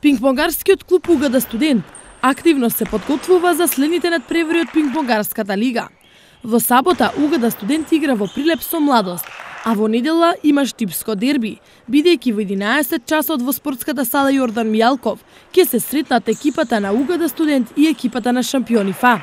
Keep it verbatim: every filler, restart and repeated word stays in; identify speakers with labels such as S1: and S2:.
S1: Пингпонгарскиот клуб Угада Студент активно се подготвува за следните надпревари од Пингпонгарската лига. Во сабота Угада Студент игра во Прилеп со Младост, а во недела има штипско дерби, бидејќи во единаесет часот во спортската сала Јордан Мијалков ќе се сретнат екипата на Угада Студент и екипата на шампиони ФА.